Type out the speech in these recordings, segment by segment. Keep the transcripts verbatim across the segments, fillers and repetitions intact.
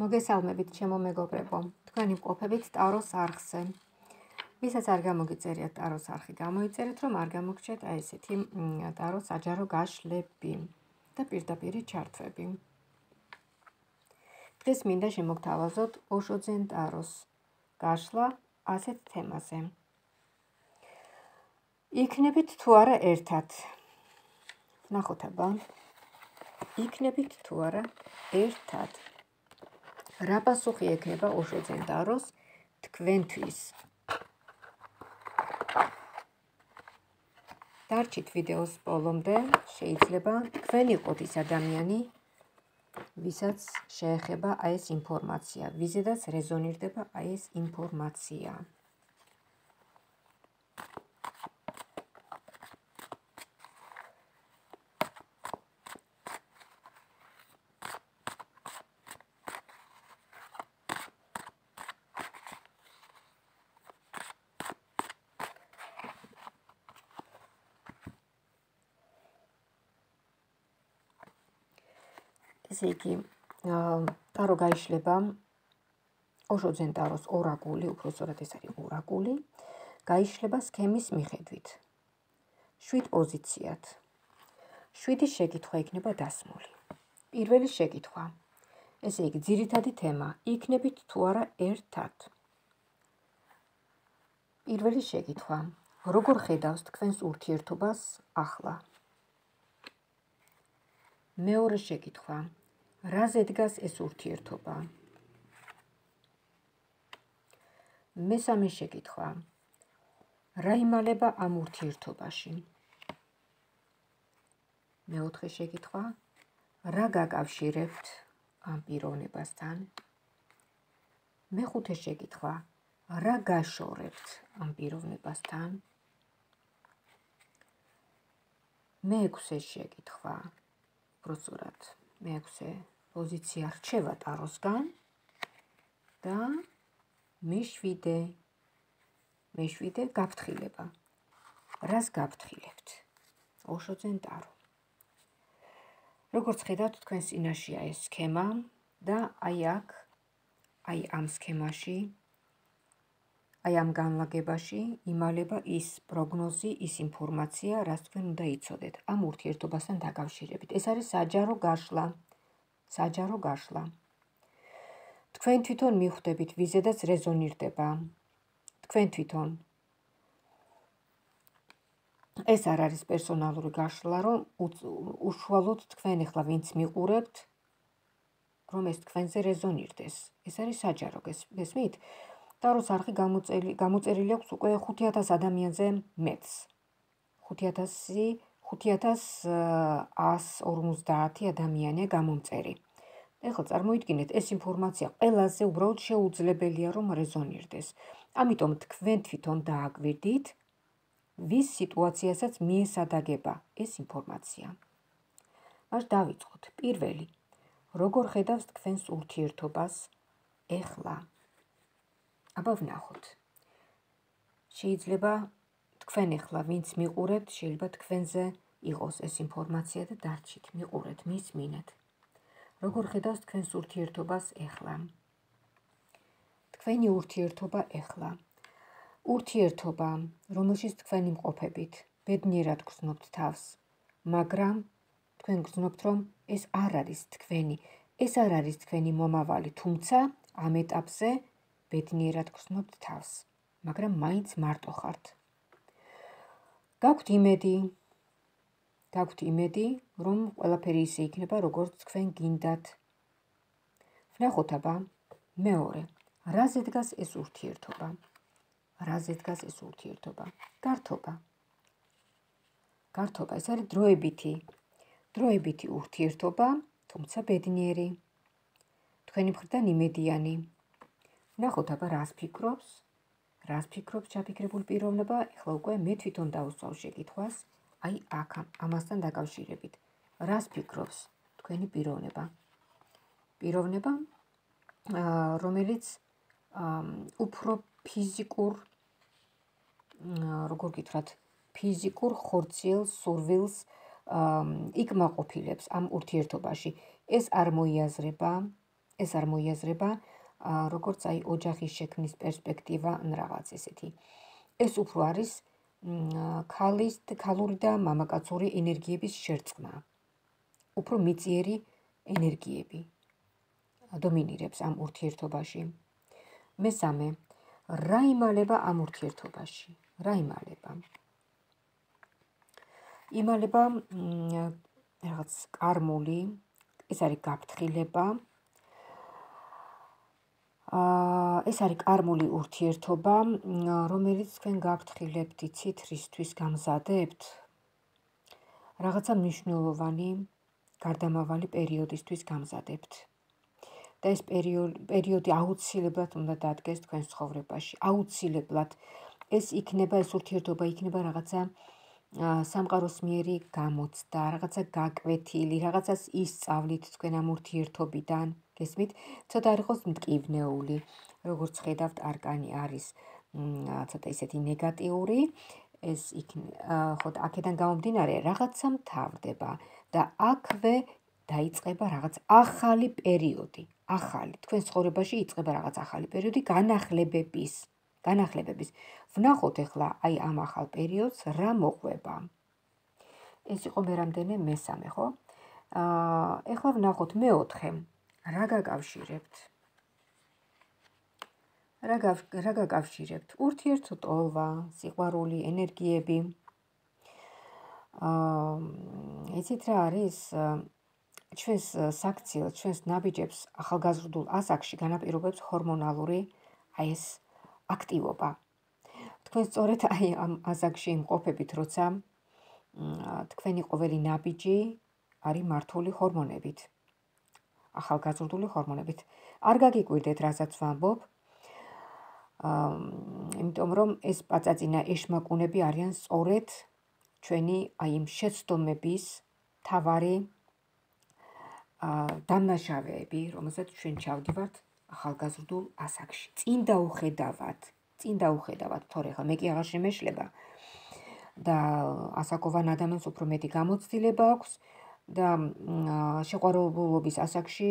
მოგესალმებით ჩემო მეგობრებო, თქვენი მყოფებით ტაროს არხზე. ვისაც არ გამოგიწერიათ ტაროს არხი, გამოიწერეთ, რომ არ გამოგჩეთ აი ესეთი ტაროს საჯარო გაშლები და პირდაპირი ჩართვები. დღეს მინდა შემოგთავაზოთ ოშოძენ ტაროს გაშლა ასეთ თემაზე. იქნებით თუ არა ერთად? ნახოთ აბა. იქნებით თუ არა ერთად? რა პასუხი ექნება ოშოძენ ტაროს თქვენთვის? დარჩით ვიდეოს ბოლომდე, შეიძლება თქვენ იყოთ ის ადამიანი, ვისაც შეეხება აი ეს ინფორმაცია, ვიზედაც რეზონირდება აი ეს ინფორმაცია. ესე იგი, ტარო გაიშლება, ოშოძენ ტაროს ორაკული, უпроსტად ეს არის ორაკული, გაიშლება სქემის მიხედვით. შვიდ პოზიციად. შვიდი შეკითხვა იქნება დასმული. პირველი შეკითხვა. ესე იგი, ძირითადი თემა, იქნებით თუ არა ერთად? პირველი შეკითხვა. როგორ ხედავს თქვენს ურთიერთობას ახლა? მეორე შეკითხვა. რაზე დგას ეს ურთიერთობა? მესამე შეკითხვა. რა იმალება ამ ურთიერთობაში? მეოთხე შეკითხვა. რა გაკავშირებთ ამ პიროვნებასთან? მეხუთე შეკითხვა. რა გაშორებთ ამ პიროვნებასთან? მეექვსე შეკითხვა. უпроსტად მეექვსე პოზიცია რჩება ტაროსგან და მეშვიდე მეშვიდე გაფრთხილება. რას გაფრთხილებთ? ოშოძენ ტარო. როგორც ხედავთ, თქვენ წინაშეა ეს სქემა და აი აქ, აი ამ სქემაში, აი ამ განლაგებაში იმალება ის პროგნოზი, ის ინფორმაცია, რაც თქვენ უნდა იცოდეთ ამ ურთიერთობასთან დაკავშირებით. ეს არის საჯარო გაშლა. საჯარო გაშლა. თქვენ თვითონ მიხვდებით, ვიზედაც რეზონირდება. თქვენ თვითონ. ეს არ არის პერსონალური გაშლა, რომ უშუალოდ თქვენ ახლა ვინც მიყურებთ, რომ ეს თქვენზე რეზონირდეს. ეს არის საჯარო, გესმით? ტაროს არხი გამოწერილი აქვს უკვე ხუთი ათას ადამიანზე მეტს. ხუთი ათას ასი ორმოცდაათი ადამიანია გამომწერი. ეხლა წარმოიდგინეთ, ეს ინფორმაცია ყველაზე უბრალოდ შეუძლებელია, რომ რეზონირდეს. ამიტომ თქვენ თვითონ დააკვირდით, ვის სიტუაციასაც მიესადაგება ეს ინფორმაცია. მას დავიწყოთ. პირველი, როგორ ხედავს თქვენს ურთიერთობას ეხლა? აბა ვნახოთ. შეიძლება თქვენ ახლა ვინც მიყურებთ, შეიძლება თქვენზე იყოს ეს ინფორმაცია და დარჩით, მიყურეთ, მისმინეთ. როგორ ხედავს თქვენს ურთიერთობას ეხლა? თქვენი ურთიერთობა ეხლა. ურთიერთობა, რომელშიც თქვენ იმყოფებით, ბედნიერად გრძნობთ თავს, მაგრამ თქვენ გრძნობთ, რომ ეს არ არის თქვენი, ეს არ არის თქვენი მომავალი, თუმცა ამ ეტაპზე ბედნიერად გრძნობთ თავს, მაგრამ მაინც მარტო ხართ. გაქვთ იმედი, გაქვთ იმედი, რომ ყველაფერი ისე იქნება, როგორც თქვენ გინდათ. ვნახოთ აბა, მეორე, რაზე დგას ეს ურთიერთობა? რაზე დგას ეს ურთიერთობა? გართობა. გართობა, ეს არის დროებითი, დროებითი ურთიერთობა, თუმცა ბედნიერი. თქვენი მხრიდან იმედიანი. ვნახოთ აბა, რას ფიქრობს? რას ფიქრობს ჩაფიქრებულ პიროვნება? ეხლა უკვე მე თვითონ დავუსვავ შეკითხვას, აი აქ ამასთან დაკავშირებით. რას ფიქრობს თქვენი პიროვნება? პიროვნება, რომელიც უფრო ფიზიკურ, როგორ გითხრათ, ფიზიკურ ხორციელს, სურვილს იკმაყოფილებს ამ ურთიერთობაში. ეს არ მოიაზრება, ეს არ მოიაზრება როგორც აი ოჯახის შექმნის პერსპექტივა ან რაღაც ესეთი. ეს უფრო არის ქალის ქალური და მამაკაცური ენერგიების შერწყმა. უფრო მიწიერი ენერგიები დომინირებს ამ ურთიერთობაში. მესამე, რა იმალება ამ ურთიერთობაში? რა იმალება? იმალება რაღაც კარმული, ეს არის გაფრთხილება. ეს არის კარმული ურთიერთობა, რომელიც თქვენ გაფრთხილებთ, იცით, რისთვის გამზადებთ? რაღაცა მნიშვნელოვანი, გარდამავალი პერიოდისთვის გამზადებთ. და ეს პერიოდი აუცილებლად უნდა დადგეს თქვენს ცხოვრებაში. აუცილებლად ეს იქნება, ეს ურთიერთობა იქნება რაღაცა სამყაროსმიერი გამოცდა, რაღაცა გაკვეთილი, რაღაცას ისწავლით თქვენ ამ ურთიერთობიდან. გესმით? ცოტა არ იყოს მტკივნეული, როგორც ხედავთ, არკანი არის ცოტა ისეთი ნეგატიური, ეს ხო აქედან გამომდინარე რაღაცა მთავრდება და აქვე დაიწყება რაღაც ახალი პერიოდი, ახალი. თქვენ ცხოვრებაში იწყება რაღაც ახალი პერიოდი განახლებების, განახლებების. ვნახოთ ახლა აი ამ ახალ პერიოდს რა მოყვება. ეს იყო მე რამდენე მესამე, ხო? აა ახლა ვნახოთ მეოთხე. რა გაკავშირებთ? რა რა გაკავშირებთ? ურთიერთოტოლვა, სიყვარული, ენერგიები. აა იცით რა არის? ჩვენს საქციელს, ჩვენს ნაბიჯებს ახალგაზრდულ ასაკში განაპირობებს ჰორმონალური აი ეს აქტივობა. თქვენ სწორედ აი ამ ასაკში იმყოფებით, როცა თქვენი ყოველი ნაბიჯი არის მართული ჰორმონებით. ახალგაზრდული ჰორმონებით. არ გაგიკვირდეთ, რასაც ვამბობ. აა იმიტომ რომ ეს პაწაწინა ეშმაკუნები არიან სწორედ ჩვენი აი იმ შეცდომების თავარი დამნაშავეები, რომელსაც ჩვენ ჩავდივართ ახალგაზრდულ ასაკში. წინ დაუხედავად, წინ დაუხედავად, თორე ხა მე კი აღარ შემეშლება და ასაკოვან ადამიანს უფრო მეტი გამოცდილება აქვს და შეყვარებულობის ასაკში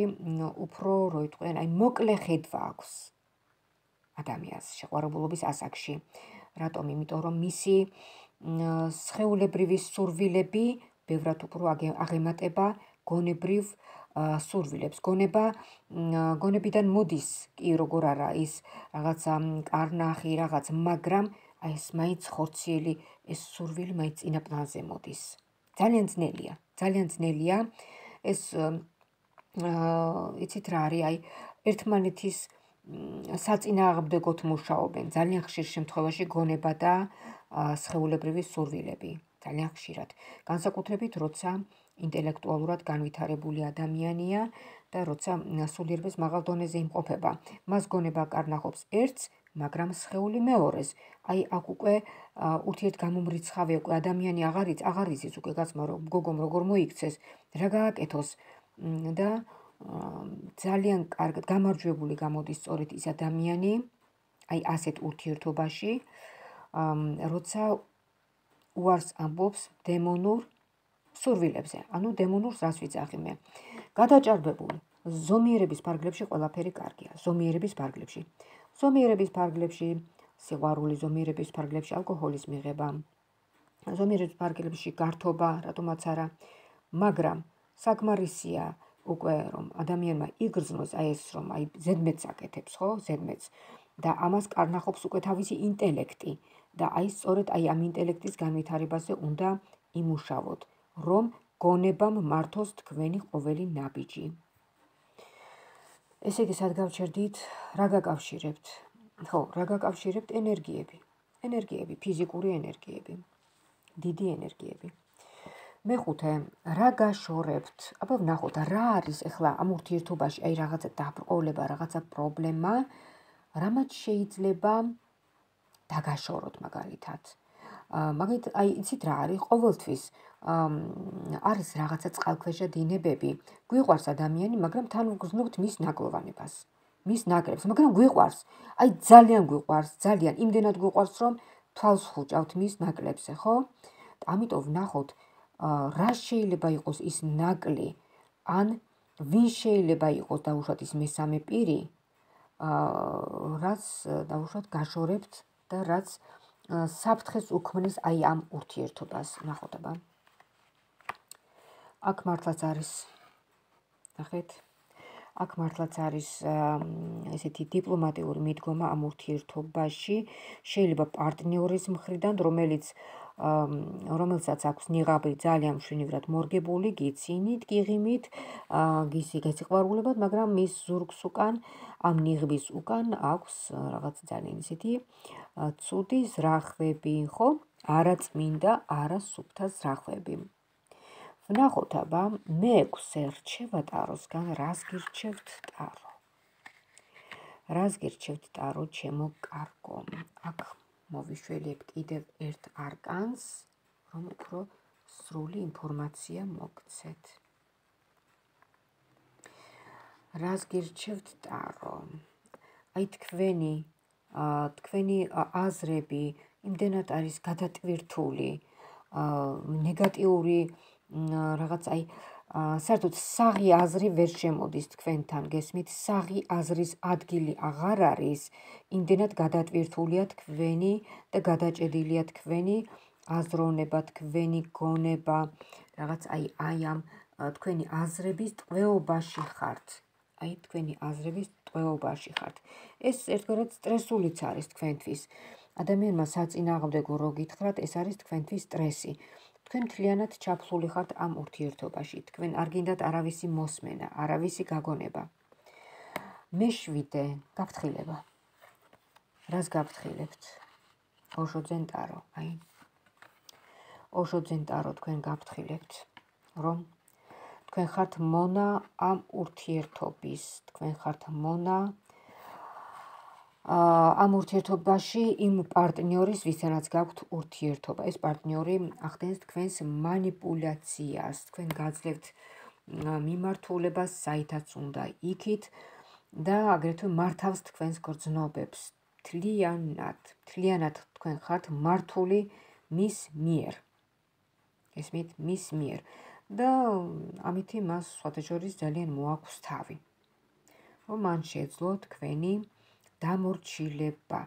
უფრო, რო იტყვიან, აი მოკლე ხედვა აქვს ადამიანს შეყვარებულობის ასაკში. რატომ? იმიტომ რომ მისი სხეულებრივი სურვილები ბევრად უფრო აღემატება გონებრივ სურვილებს. გონება გონებიდან მოდის კი როგორ არა ის რაღაცა კარნახი, რაღაც, მაგრამ აი ეს მაინც ხორციელი ეს სურვილი მაინც წინა პლანზე მოდის. ძალიან ძნელია, ძალიან ძნელია ეს იცით რა არის, აი ერთმანეთის საწინააღმდეგოდ მუშაობენ. ძალიან ხშირ შემთხვევაში გონება და სხეულებრივი სურვილები. ძალიან ხშირად. განსაკუთრებით, როცა ინტელექტუალურად განვითარებული ადამიანია და როცა სულიერბეს მაღალ დონეზე იმყოფება. მას გონება კარნახობს ერთს, მაგრამ სხეული მეორეს. აი აქ უკვე ურთიერთგამომრიცხავე უკვე ადამიანი აღარიც, აღარ იცის უკვე გაცმა რომ გოგომ როგორ მოიქცეს, რა გააკეთოს და ძალიან კარგად გამარჯვებული გამოდის სწორედ ის ადამიანი, აი ასეთ ურთიერთობაში, როცა უარს ამბობს დემონურ სურვილებზე. ანუ დემონურს რას ვიცახი მე? გადაჭარბებული. ზომიერების ფარგლებში ყველაფერი კარგია. ზომიერების ფარგლებში. ზომიერების ფარგლებში სიყვარული, ზომიერების ფარგლებში ალკოჰოლის მიღება. ზომიერების ფარგლებში გართობა, რატომაც არა. მაგრამ საკმარისია უკვე რომ ადამიანმა იგრძნოს აი ეს რომ აი ზედმეტს აკეთებს, ხო? ზედმეტს და ამას კარნახობს უკვე თავისი ინტელექტი და აი სწორედ აი ამ ინტელექტის განვითარებაზე უნდა იმუშავოთ, რომ გონებამ მართოს თქვენი ყოველი ნაბიჯი. ესე იგი, სად გავჩერდით? რა გაკავშირებთ? ხო, რა გაკავშირებთ? ენერგიები. ენერგიები, ფიზიკური ენერგიები. დიდი ენერგიები. მეხუთე, რა გაშორებთ? აბა ვნახოთ, რა არის ახლა ამ ურთიერთობაში, აი რაღაცა დაბრკოლება, რაღაცა პრობლემა, რამაც შეიძლება დაგაშოროთ მაგალითად. მაგით აი იცით რა არის? ყოველთვის არის რაღაცა წყალქვეშა დინებები. გვიყვარს ადამიანი, მაგრამ თან ვგრძნობთ მის ნაკლოვანებას. მის ნაკრებს, მაგრამ გვიყვარს. აი ძალიან გვიყვარს, ძალიან იმდენად გვიყვარს, რომ თვალს ხუჭავთ მის ნაკლებზე, ხო? ამიტომ ვნახოთ, რა შეიძლება იყოს ის ნაკლი, ან ვინ შეიძლება იყოს დაუშვათ ის მესამე პირი, რაც დაუშვათ გაშორებთ და რაც საფრთხეს უქმნის აი ამ ურთიერთობას. ნახოთ აბა. აქ მართლაც არის, ნახეთ, აქ მართლაც არის ესეთი დიპლომატიური მიდგომა ამ ურთიერთობაში, შეიძლება პარტნიორის მხრიდან, რომელიც რომელსაც აქვს ნიღაბი ძალიან მშვენივრად მორგებული, გიცინით, გიღიმით, გისი გასიყვარულებად, მაგრამ მის ზურგს უკან, ამ ნიღბის უკან აქვს რაღაც ძალიან ისეთი ცუდი ზრახვები, ხო? არაწმინდა, არასუფთა ზრახვები. ვნახოთ აბა, მეექვსე რჩება ტაროსგან, რას გირჩევთ ტარო? რას გირჩევთ ტარო, ჩემო კარგო? აქ მოვიშველებ კიდევ ერთ არკანს, რომ უფრო სრული ინფორმაცია მოგცეთ. რას გირჩევთ ტარო? აი თქვენი, თქვენი აზრები იმდენად არის გადატვირთული, ნეგატიური რაღაც აი საერთოდ საღი აზრი ვერ შემოდის თქვენთან, გესმით, საღი აზრის ადგილი აღარ არის, იმდენად გადატვირთულია თქვენი და გადაჭედილია თქვენი აზროვნება, თქვენი გონება, რაღაც აი აი ამ თქვენი აზრების ტყვეობაში ხართ. აი თქვენი აზრების ტყვეობაში ხართ. ეს ერთგვარად სტრესულიც არის თქვენთვის. ადამიანმა საწინააღმდეგო რო გითხრათ, ეს არის თქვენთვის სტრესი. თქვენ მთლიანად ჩაფლული ხართ ამ ურთიერთობაში. თქვენ არ გინდათ არავისი მოსმენა, არავისი გაგონება. მეშვიდე გაფრთხილება. რას გაფრთხილებთ? ოშოძენ ტარო, აი. ოშოძენ ტარო თქვენ გაფრთხილებთ, რომ თქვენ ხართ მონა ამ ურთიერთობის, თქვენ ხართ მონა ამ ურთიერთობაში იმ პარტნიორის, ვისთანაც გაქვთ ურთიერთობა. ეს პარტნიორი ახდენს თქვენს მანიპულაციას, თქვენ გაძლევთ მიმართულებას, საითაც უნდა იქით და აგრეთვე მართავს თქვენს გრძნობებს. მთლიანად, მთლიანად თქვენ ხართ მართული მის მიერ. ესმით, მის მიერ. და ამითი მას სხვათა შორის ძალიან მოაქვს თავი. რომ მან შეძლო თქვენი დამორჩილება.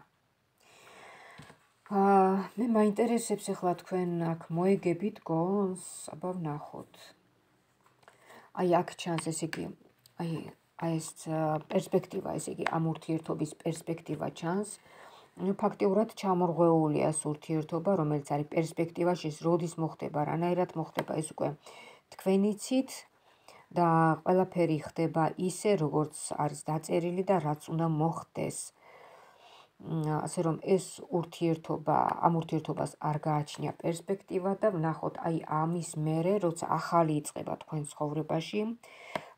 მე მაინტერესებს ახლა თქვენ აქ მოეგებით გონს, აბა ვნახოთ. აი აქ ჩანს ესე იგი, აი აი ეს პერსპექტივა, ესე იგი ამ ურთიერთობის პერსპექტივა ჩანს. ფაქტიურად ჩამორღვეულია ეს ურთიერთობა, რომელიც არის პერსპექტივაში, ეს როდის მოხდება, რანაირად მოხდება, ეს უკვე თქვენ იცით და ყველაფერი ხდება ისე, როგორც არის დაწერილი და რაც უნდა მოხდეს. ასე რომ ეს ურთიერთობა, ამ ურთიერთობას არ გააჩნია პერსპექტივა და ვნახოთ აი ამის მერე, როცა ახალი იწყება თქვენ ცხოვრებაში,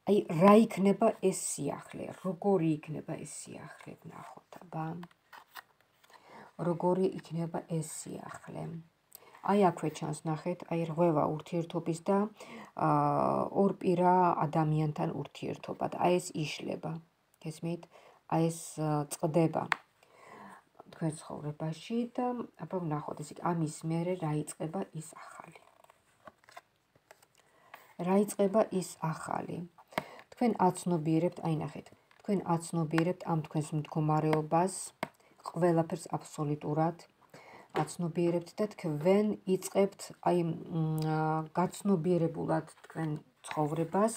აი რა იქნება ეს სიახლე, როგორი იქნება ეს სიახლე, ვნახოთ აბა. როგორი იქნება ეს სიახლე. აი აქვე ჩანს, ნახეთ, აი რღვევა ურთიერთობის და ორპირა ადამიანთან ურთიერთობა და აი ეს იშლება. გესმით? აი ეს წყდება თქვენ ცხოვრებაში და აბა ვნახოთ, ესე იგი ამის მერე რა იწყება ის ახალი. რა იწყება ის ახალი. თქვენ აცნობიერებთ, აი ნახეთ, თქვენ აცნობიერებთ ამ თქვენს მდგომარეობას, ყველაფერს აბსოლუტურად აცნობიერებთ და თქვენ იწყებთ აი გაცნობიერებულად თქვენ ცხოვრებას,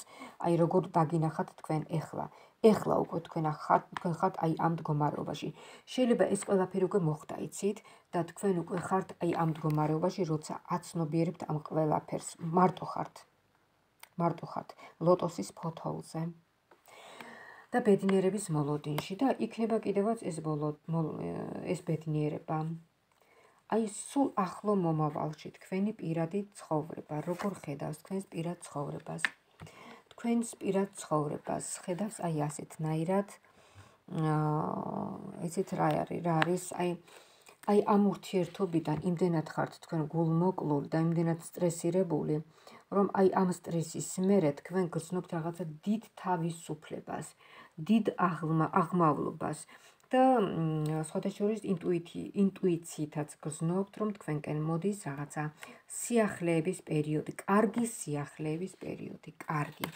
აი როგორ დაგინახათ თქვენ ეხლა. ეხლა უკვე თქვენ ხართ, თქვენ ხართ აი ამ მდგომარეობაში. შეიძლება ეს ყველაფერი უკვე მოხდა, იცით, და თქვენ უკვე ხართ აი ამ მდგომარეობაში, როცა აცნობიერებთ ამ ყველაფერს. მარტო ხართ. მარტო ხართ ლოტოსის ფოთოლზე. და ბედნიერების მოლოდინში და იქნება კიდევაც ეს ბოლო ეს ბედნიერება. აი სულ ახლო მომავალში თქვენი პირადი ცხოვრება, როგორ ხედავს თქვენს პირად ცხოვრებას. თქვენს პირად ცხოვრებას ხედავს აი ასეთნაირად, ესეთ რა არის, რა არის, აი აი ამ ურთიერთობიდან იმდენად ხართ თქვენ გულმოკლული და იმდენად სტრესირებული, რომ აი ამ სტრესის მერე თქვენ გრძნობთ რაღაცა დიდ თავისუფლებას, დიდ აღმავლობას და სხვათა შორის ინტუიციითაც გრძნობთ, რომ თქვენკენ მოდის რაღაცა სიახლეების პერიოდი, კარგი სიახლეების პერიოდი, კარგი,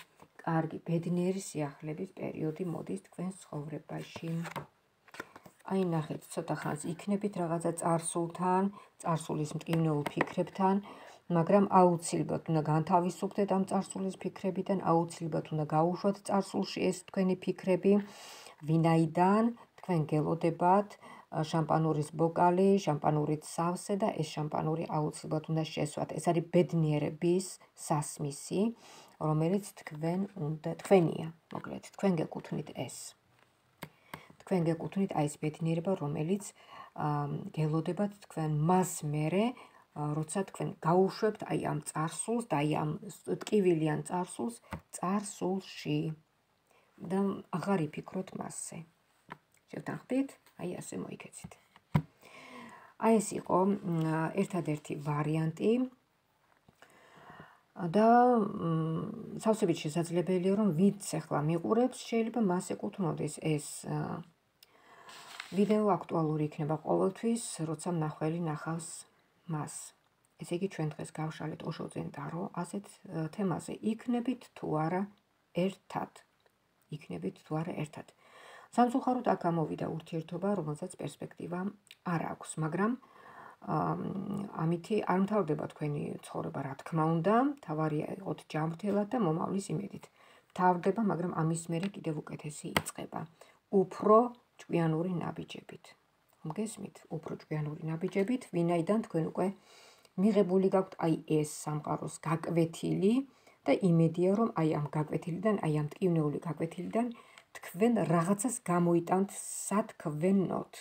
კარგი, ბედნიერი სიახლეების პერიოდი მოდის თქვენს ცხოვრებაში. აი ნახეთ, ცოტა ხანს იქნებით რაღაცა წარსულთან, წარსულის მტკივნეულ ფიქრებთან, მაგრამ აუცილებლად უნდა განთავისუფლდეთ ამ წარსულის ფიქრებიდან, აუცილებლად უნდა გაუშვათ წარსულში ეს თქვენი ფიქრები, ვინაიდან თქვენ გელოდებათ შამპანურის ბოკალი, შამპანურით სავსე და ეს შამპანური აუცილებლად უნდა შესვათ. ეს არის ბედნიერების სასმისი, რომელიც თქვენ უნდა თქვენია, მოკლედ, თქვენ გეკუთვნით ეს. თქვენ გეკუთვნით აი ეს ბედნიერება, რომელიც გელოდებათ თქვენ მას მერე, როცა თქვენ გაუშვებთ აი ამ წარსულს და აი ამ ტკივილიან წარსულს წარსულში და აღარ იფიქროთ მასზე. შევთანხმდით? აი ასე მოიქეცით. აი ეს იყო ერთადერთი ვარიანტი და სავსებით შესაძლებელია, რომ ვინც ახლა მიყურებს, შეიძლება მას ეკუთვნოდეს ეს ვიდეო აქტუალური იქნება ყოველთვის, როცა მნახველი ნახავს მას. ესე იგი, ჩვენ დღეს გავშალეთ ოშოძენ ტარო ასეთ თემაზე. იქნებით თუ არა ერთად. იქნებით თუ არა ერთად. სამწუხაროდ აქ გამოვიდა ურთიერთობა, რომელსაც პერსპექტივა არ აქვს, მაგრამ ამითი არ მთავრდება თქვენი ცხოვრება, რა თქმა უნდა, თავარია იყოთ ჯანმრთელად და მომავლის იმედით. მთავრდება, მაგრამ ამის მერე კიდევ უკეთესი იწყება. უფრო ჭკვიანური ნაბიჯებით. მგესმით? უფრო ჭკვიანური ნაბიჯებით, ვინაიდან თქვენ უკვე მიღებული გაქვთ აი ეს სამყაროს გაკვეთილი და იმედია, რომ აი ამ გაკვეთილიდან, აი ამ ტკივნეული გაკვეთილიდან თქვენ რაღაცას გამოიტანთ სათქვენოდ.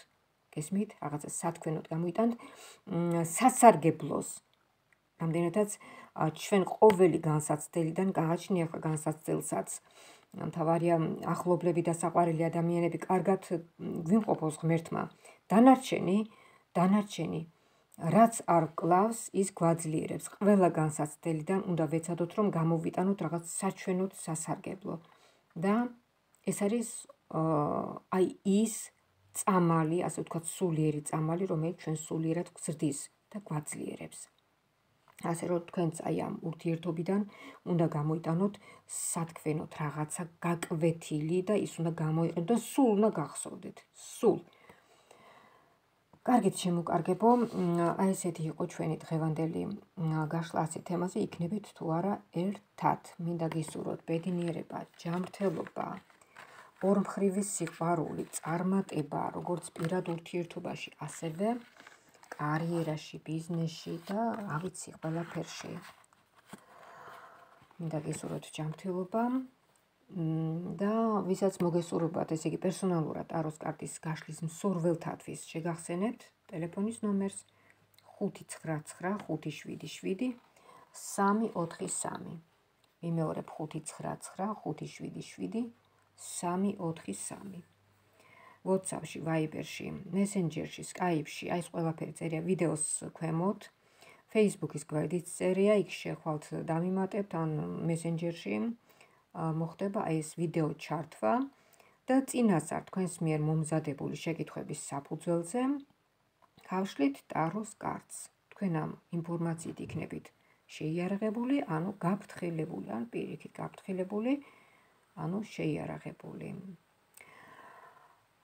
გესმით? რაღაცას სათქვენოდ გამოიტანთ სასარგებლოს. რამდენადაც ჩვენ ყოველი განსაცდელიდან გააჩნია ახლა განსაცდელსაც. მთავარია ახლობლები და საყვარელი ადამიანები კარგად გვიმყოფოს ღმერთმა. დანარჩენი, დანარჩენი, რაც არ კლავს, ის გვაძლიერებს. ყველა განსაცდელიდან უნდა ვეცადოთ, რომ გამოვიტანოთ რაღაც საჩვენოდ სასარგებლო. და ეს არის აი ის წამალი, ასე ვთქვათ, სულიერი წამალი, რომელიც ჩვენ სულიერად გვზრდის და გვაძლიერებს. ასე რომ თქვენც აი ამ ურთიერთობიდან უნდა გამოიტანოთ სათქვენოდ რაღაცა გაკვეთილი და ის უნდა გამოიყენოთ და სულ უნდა გახსოვდეთ. სულ. კარგით, შემოკარგებო, აი ესეთი იყო ჩვენი დღევანდელი გაშლა ასეთ თემაზე, იქნებით თუ არა ერთად. მინდა გისურვოთ ბედნიერება, ჯანმრთელობა, ორმხრივი სიყვარული, წარმატება, როგორც პირად ურთიერთობაში, ასევე კარიერაში, ბიზნესში და რა ვიცი, ყველაფერში. მინდა გისურვოთ ჯანმრთელობა და ვისაც მოგესურვებათ, ესე იგი პერსონალურად ტაროს კარტის გაშლის მსურველთათვის შეგახსენებთ ტელეფონის ნომერს ხუთი ცხრა ცხრა ხუთი შვიდი შვიდი სამი ოთხი სამი. ვიმეორებ ხუთი ცხრა ცხრა ხუთი შვიდი შვიდი სამი ოთხი სამი. WhatsApp-ში, Viber-ში, Messenger-ში, Skype-ში, აი ეს ყველაფერი წერია ვიდეოს ქვემოთ. Facebook-ის გვერდით წერია, იქ შეხვალთ დამიმატებთ, ან Messenger-ში მოხდება აი ეს ვიდეო ჩართვა და წინასწარ თქვენს მიერ მომზადებული შეკითხვების საფუძველზე გავშლით ტაროს კარტს. თქვენ ამ ინფორმაციით იქნებით შეიარაღებული, ანუ გაფრთხილებული, ან პირიქით გაფრთხილებული, ანუ შეიარაღებული.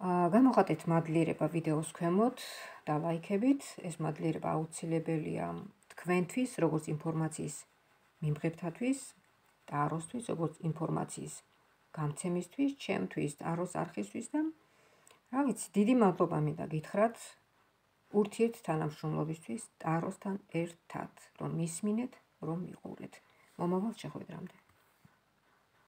გამოხატეთ მადლიერება ვიდეოს ქვემოთ და ლაიქებით. ეს მადლიერება აუცილებელია თქვენთვის, როგორც ინფორმაციის მიმღებთათვის, ტაროსთვის, როგორც ინფორმაციის გამცემისთვის, ჩემთვის, ტაროს არხისთვის და რა ვიცი, დიდი მადლობა მინდა გითხრათ ურთიერთ თანამშრომლობისთვის ტაროსთან ერთად, რომ მისმინეთ, რომ მიყურეთ. მომავალ შეხვედრამდე.